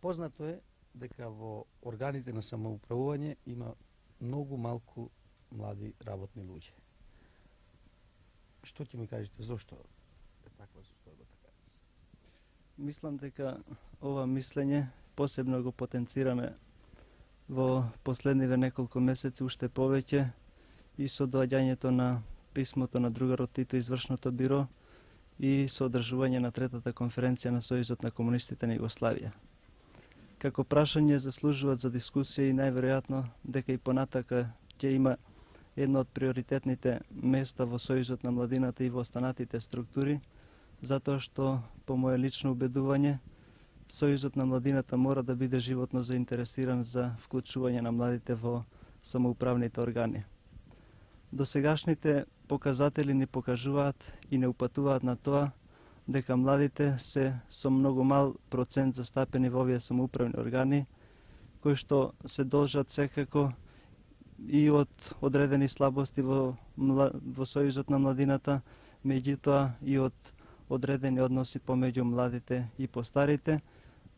Познато е дека во органите на самоуправување има многу малку млади работни луѓе. Што ќе ми кажете зошто е таква состојба така? Мислам дека ова мислење посебно го потенцираме во последниве неколку месеци уште повеќе и со доаѓањето на писмото на другарот Тито извршното биро и со одржување на третата конференција на Сојузот на комунистите на Југославија. Како прашање заслужуваат за дискусија и најверојатно дека и понатака ќе има едно од приоритетните места во Сојузот на младината и во останатите структури, затоа што, по моје лично убедување, Сојузот на младината мора да биде животно заинтересиран за вклучување на младите во самоуправните органи. Досегашните показатели ни покажуваат и не упатуваат на тоа дека младите се со многу мал процент застапени во овие самоуправни органи, кои што се должат секако и од одредени слабости во Сојузот на младината, меѓутоа и од одредени односи помеѓу младите и постарите.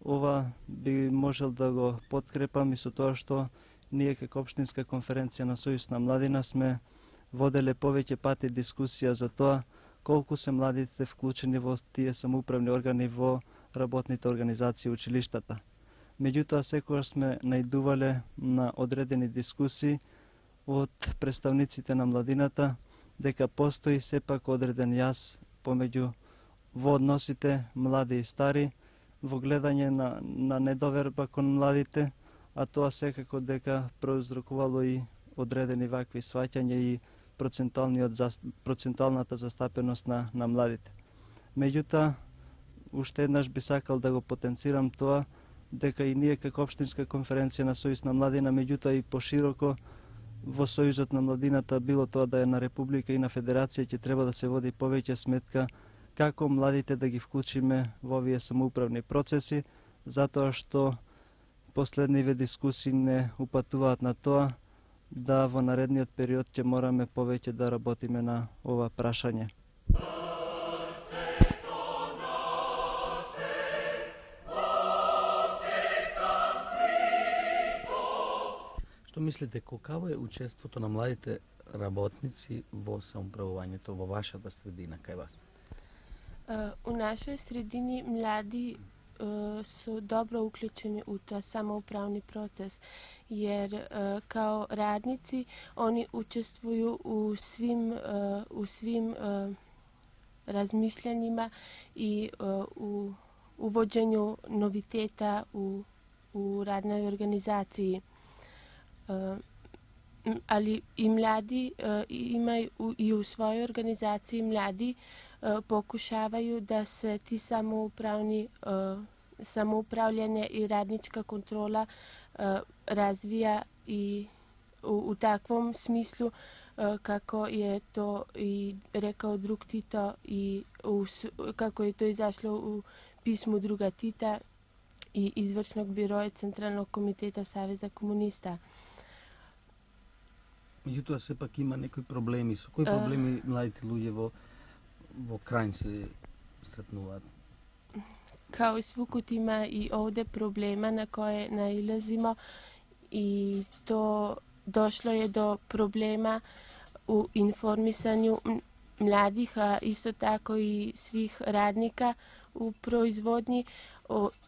Ова би можел да го подкрепам и со тоа што ние како општинска конференција на Сојуз на младина сме воделе повеќе пати дискусија за тоа колку се младите вклучени во тие самоуправни органи во работните организации и училиштата. Меѓутоа секогаш сме наидувале на одредени дискусии од представниците на младината дека постои сепак одреден јас помеѓу во односите млади и стари, во гледање на недоверба кон младите, а тоа секако дека проузрокувало и одредени вакви сваќања и процентуалната застапеност на младите. Меѓутоа, уште еднаш би сакал да го потенцирам тоа дека и ние како општинска конференција на Сојуз на младина, меѓутоа и пошироко во Сојузот на младината, било тоа да е на Република и на Федерација, ќе треба да се води повеќе сметка како младите да ги вклучиме во овие самоуправни процеси, затоа што последниве дискусии не упатуваат на тоа да во наредниот период ќе мораме повеќе да работиме на ова прашање. Што мислите, колкаво е учеството на младите работници во самоуправувањето во вашата средина, кај вас? У нашој средини млади su dobro uključeni u ta samoupravni proces, jer kao radnici oni učestvuju u svim razmišljanjima i u uvođenju noviteta u radnoj organizaciji. Ali i mladi imaju i u svojoj organizaciji mladi pokušavaju da se ti samoupravljanje i radnička kontrola razvija i u takvom smislu kako je to i rekao drug Tito i kako je to izašlo u pismu druga Tita i izvršnog biroja Centralnog komiteta Saveza komunista. Меѓутоа сепак има некои проблеми. Со кои проблеми младите луѓе во Крајн се сретнуваат? Kao i svugud ima i ovde problema na koje nailazimo i to došlo je do problema u informisanju mladih, a isto tako i svih radnika u proizvodnji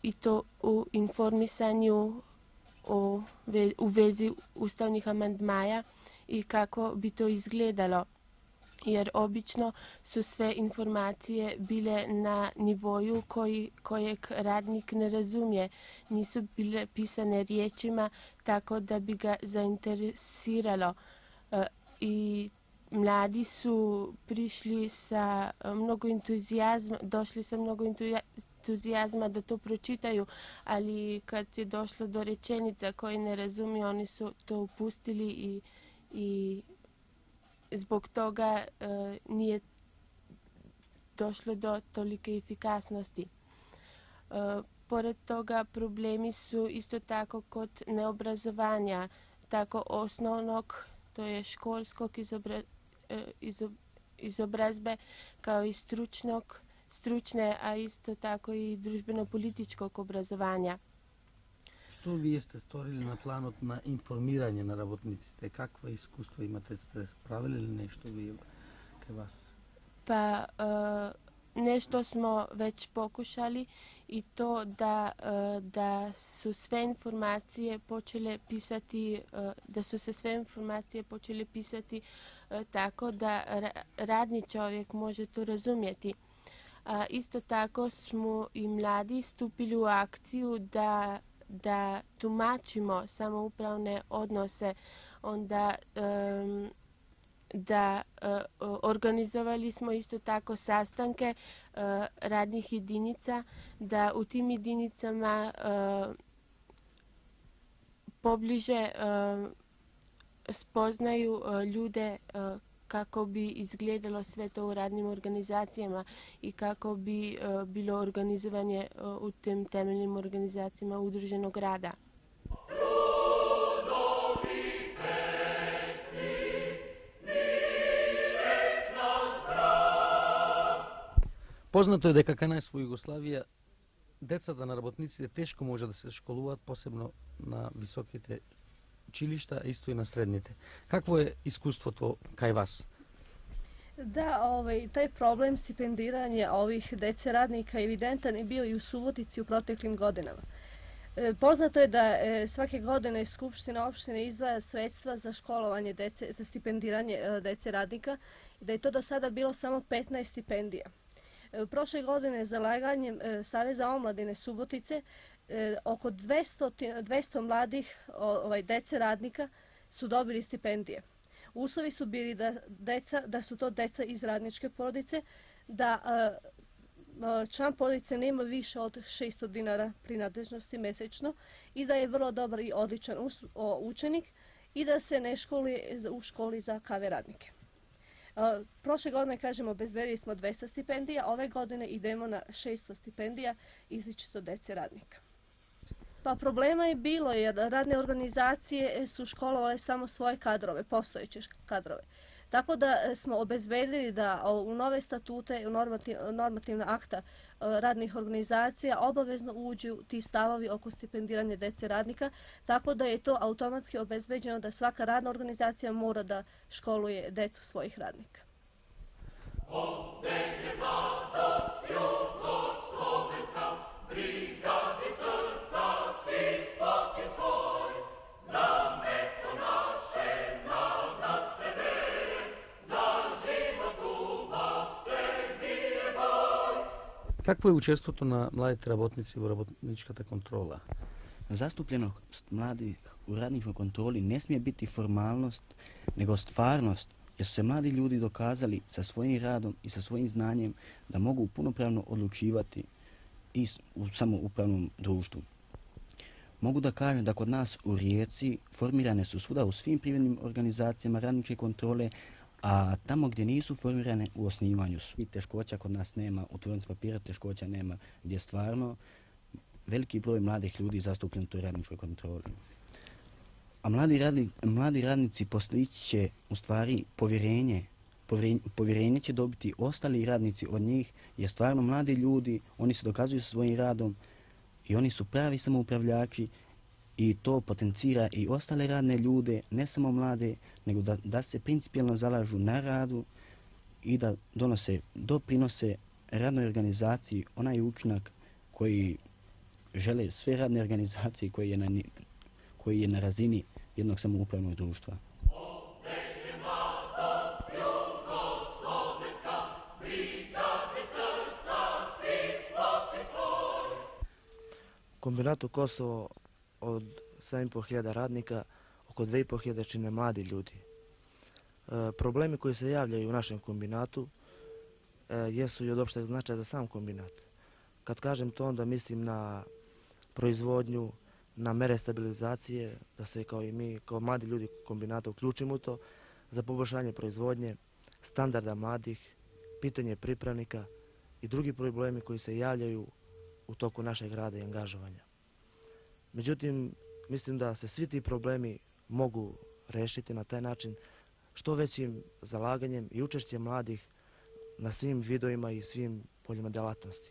i to u informisanju u vezi ustavnih amandmaja i kako bi to izgledalo. Jer obično su sve informacije bile na nivoju kojeg radnik ne razumije. Nisu bile pisane riječima tako da bi ga zainteresiralo. I mladi su prišli sa mnogo entuzijazma, došli sa mnogo entuzijazma da to pročitaju, ali kad je došlo do rečenica koje ne razumiju, oni su to upustili i zbog toga nije došlo do tolike efikasnosti. Pored toga problemi su isto tako kod neobrazovanja, tako osnovnog, to je školskog izobrazbe, kao i stručne, a isto tako i družbeno-političkog obrazovanja. Што вие сте сторили на планот на информирање на работниците? Каква искуство имате? Сте правили ли нешто вие кај вас? Па нешто смо веќе покушали и то да су све информације почеле писати, да су се све информације почеле писати тако да радни човек може то разумети. Исто тако смо и млади ступили у акцију да тумачимо самоуправне односе, онда да организовали смо исто тако sastanke radnih jedinica, da u tim jedinicama pobliže spoznaju ljude kako bi izgledalo sve to u radnim organizacijama i kako bi bilo organizovanje u tim temeljnim organizacijama udruženog rada. Познато е дека кај нас во Југославија децата на работниците тешко може да се школуваат, посебно на високите училишта, а исто и на средните. Какво е искуството кај вас? Da, taj problem stipendiranja ovih dece radnika evidentan je bio i u Subotici u proteklim godinama. Poznato je da svake godine Skupština opštine izdvaja sredstva za školovanje dece, za stipendiranje dece radnika i da je to do sada bilo samo 15 stipendija. Prošle godine zalaganjem Saveza omladine Subotice oko 200 mladih dece radnika su dobili stipendije. Uslovi su bili da su to deca iz radničke porodice, da član porodice nema više od 600 dinara prinadležnosti mesečno i da je vrlo dobar i odličan učenik i da se ne školuje u školi za KV radnike. Prošle godine, kažemo, obezbedili smo 200 stipendija, ove godine idemo na 600 stipendija izričito dece radnika. Pa problema je bilo jer radne organizacije su školovale samo svoje kadrove, postojeće kadrove. Tako da smo obezbedili da u nove statute, u normativna akta radnih organizacija obavezno uđu ti stavovi oko stipendiranja dece radnika, tako da je to automatski obezbeđeno da svaka radna organizacija mora da školuje decu svojih radnika. Какво е учеството на младите работници во работничката контрола? Zastupljenost mladih u radničkoj kontroli ne smije biti formalnost, nego stvarnost, jer su se mladi ljudi dokazali sa svojim radom i sa svojim znanjem da mogu punopravno odlučivati i u samoupravnom društvu. Mogu da kažem da kod nas u Rijeci formirane su svuda u svim privrednim organizacijama radničke kontrole, a tamo gdje nisu formirane u osnivanju su. I teškoća kod nas nema, u tvornici papira teškoća nema, gdje stvarno veliki broj mladih ljudi zastupljen u toj radničkoj kontroli. A mladi radnici postići će u stvari povjerenje. Povjerenje će dobiti ostali radnici od njih, jer stvarno mladi ljudi, oni se dokazuju sa svojim radom i oni su pravi samoupravljači i to potencira i ostale radne ljude, ne samo mlade, nego da se principijelno zalažu na radu i da doprinose radnoj organizaciji onaj učinak koji žele sve radne organizacije koji je na razini jednog samoupravnog društva. Kombinatu Kosovo od 7.500 radnika, oko 2.500 čine mladi ljudi. Problemi koji se javljaju u našem kombinatu jesu i od opšteg značaja za sam kombinat. Kad kažem to, onda mislim na proizvodnju, na mere stabilizacije, da se kao i mi, kao mladi ljudi kombinata uključimo u to, za poboljšanje proizvodnje, standarda mladih, pitanje pripravnika i drugi problemi koji se javljaju u toku našeg rada i angažovanja. Međutim, mislim da se svi ti problemi mogu rešiti na taj način što većim zalaganjem i učešćem mladih na svim vidovima i svim poljima delatnosti.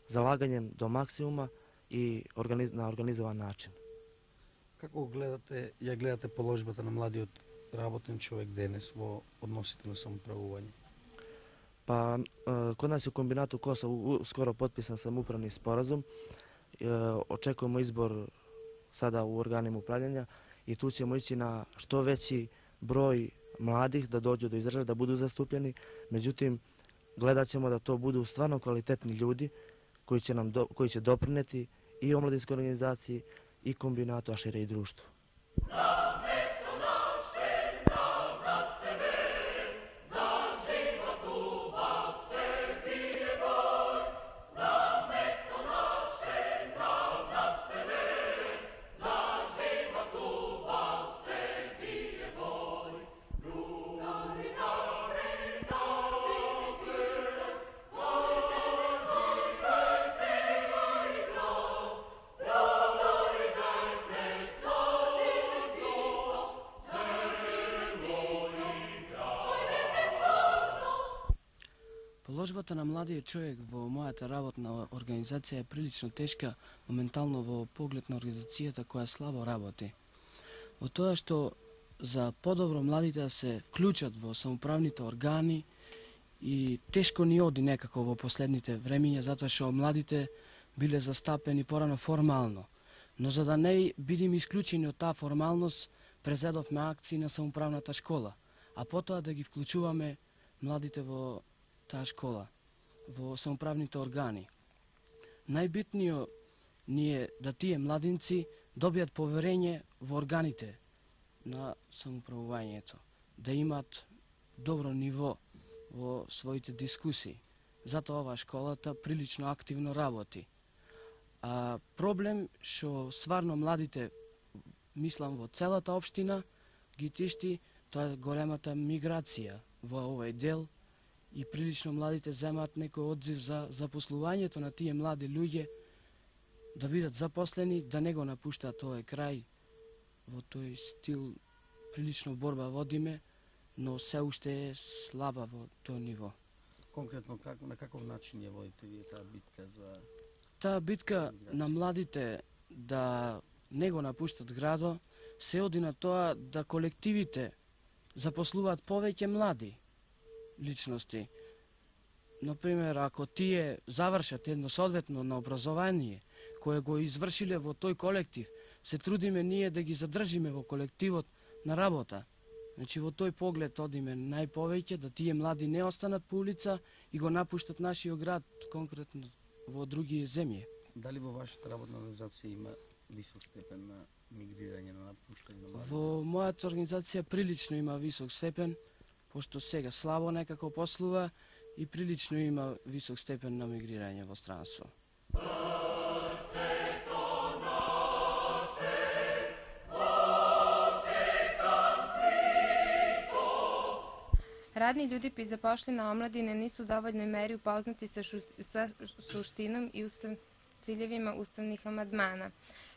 Zalaganjem do maksimuma i na organizovan način. Како ја гледате положбата на младиот работен човек денес во односите на самоуправување? Па, код нас у комбинату Коса скоро потписан самоуправни споразум. Очекуваме избор сада у органим управљања и ту ćemo ići на што веći број младих да доđu до изражаја, да буду заступljeni. Меđutim, гледат ćemo да то буду стварно квалитетни људи кои ќе допринети и омладинској организацији и комбинату, а шире и друштву. Положбата на младиот човек во мојата работна организација е прилично тешка моментално во поглед на организацијата која слабо работи. Во тоа што за подобро младите да се вклучат во самоуправните органи и тешко ни оди некако во последните времиња затоа што младите биле застапени порано формално. Но за да не бидеме исклучени од таа формалност, презедовме акции на самоуправната школа, а потоа да ги вклучуваме младите во таа школа, во самоуправните органи. Најбитниот ни е да тие младинци добијат поверење во органите на самоуправувањето, да имат добро ниво во своите дискусии. Затоа оваа школата прилично активно работи. А проблем што стварно младите, мислам во целата општина, ги тишти, тоа е големата миграција во овој дел и прилично младите земаат некој одзив за запослувањето на тие млади луѓе, да бидат запослени, да не го напуштаат овој крај. Во тој стил прилично борба водиме, но се уште е слаба во тој ниво. Конкретно, на каков начин ја водите вие таа битка за... Таа битка на младите да не го напуштат градо, се оди на тоа да колективите запослуваат повеќе млади личности. Например, ако тие завршат едно соодветно на образование, кое го извршиле во тој колектив, се трудиме ние да ги задржиме во колективот на работа. Значи, во тој поглед одиме најповеќе, да тие млади не останат по улица и го напуштат нашиот град, конкретно во други земји. Дали во вашата работна организација има висок степен на мигрирање, на напуштање на млади? Во мојата организација прилично има висок степен, пошто сега слабо некако послува и прилично има висок степен на мигрирање во странство. Radni ljudi pri zapošljeni omladine nisu u dovoljnoj meri upoznati sa suštinom i ciljevima ustavnih amandmana.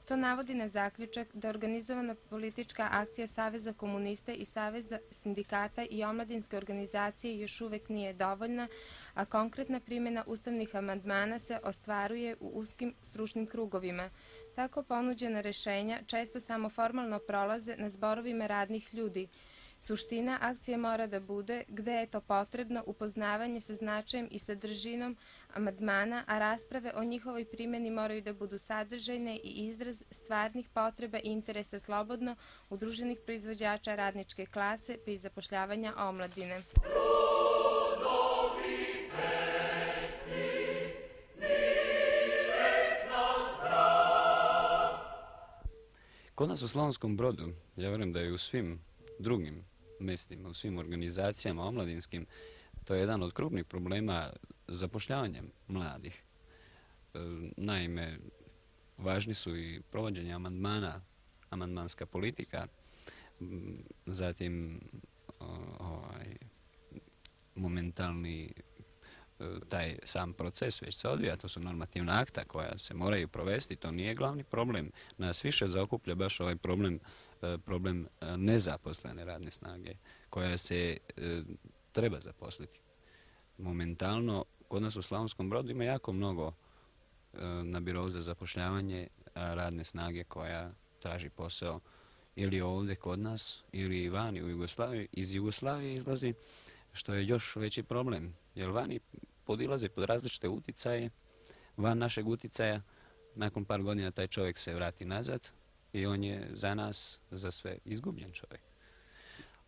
To navodi na zaključak da organizovana politička akcija Saveza komunista i Saveza sindikata i omladinske organizacije još uvek nije dovoljna, a konkretna primjena ustavnih amandmana se ostvaruje u uskim stručnim krugovima. Tako ponuđena rešenja često samo formalno prolaze na zborovima radnih ljudi. Suština akcije mora da bude, gde je to potrebno, upoznavanje sa značajem i sadržinom amandmana, a rasprave o njihovoj primjeni moraju da budu sadržajne i izraz stvarnih potreba i interesa slobodno udruženih proizvođača radničke klase pa i zapošljavanja omladine. Kod nas u Slavonskom Brodu, ja verujem da je u svim drugim mestima, u svim organizacijama omladinskim, to je jedan od krupnih problema zapošljavanja mladih. Naime, važni su i provođenje amandmana, amandmanska politika, zatim momentalni taj sam proces već se odvija, to su normativna akta koja se moraju provesti, to nije glavni problem. Nas više zaokuplja baš ovaj problem nezaposlene radne snage koja se treba zaposliti. Momentalno, kod nas u Slavonskom Brodu ima jako mnogo na birou za zapošljavanje radne snage koja traži posao ili ovdje kod nas ili vani u Jugoslaviji. Iz Jugoslavije izlazi, što je još veći problem, jer vani podilaze pod različite uticaje, van našeg uticaja, nakon par godina taj čovjek se vrati nazad i on je za nas, za sve, izgubljen čovjek.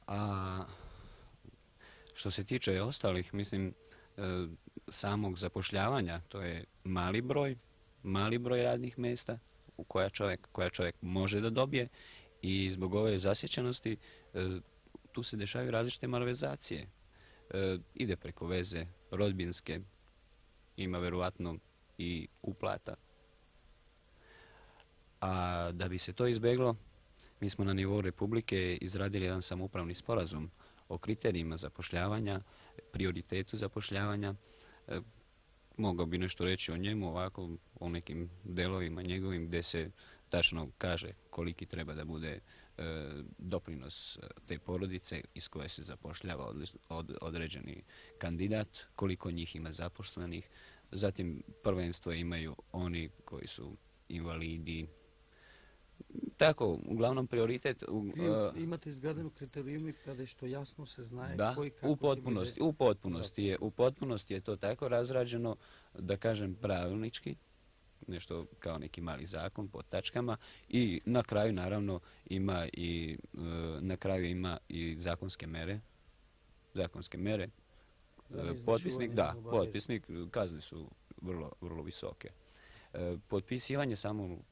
A što se tiče ostalih, mislim, samog zapošljavanja, to je mali broj radnih mjesta koja čovjek može da dobije i zbog ove zasjećenosti tu se dešavaju različite malverzacije. Ide preko veze rodbinske, ima verovatno i uplata. A da bi se to izbeglo, mi smo na nivou Republike izradili jedan samoupravni sporazum o kriterijima zapošljavanja, prioritetu zapošljavanja. Mogao bi nešto reći o njemu, ovako o nekim delovima njegovim gdje se tačno kaže koliki treba da bude doprinos te porodice iz koje se zapošljava određeni kandidat, koliko njih ima zaposlenih. Zatim prvenstvo imaju oni koji su invalidi. Tako, uglavnom prioritet... Imate izgradenu kriterijumi kada što jasno se znaje koji kako... U potpunosti je to tako razrađeno, da kažem pravilnički, nešto kao neki mali zakon po tačkama i na kraju naravno ima i zakonske mere. Potpisnik, kazne su vrlo visoke.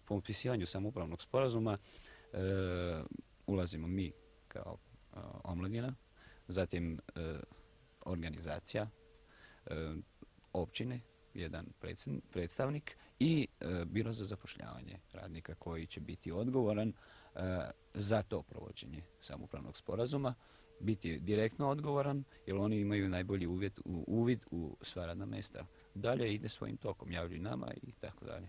Potpisivanju samoupravnog sporazuma ulazimo mi kao omladina, zatim organizacija, općine, jedan predstavnik i biro za zapošljavanje radnika koji će biti odgovoran za to provođenje samoupravnog sporazuma, biti direktno odgovoran jer oni imaju najbolji uvid u sva radna mjesta. Dalje ide svojim tokom, javljaju nama i tako dalje.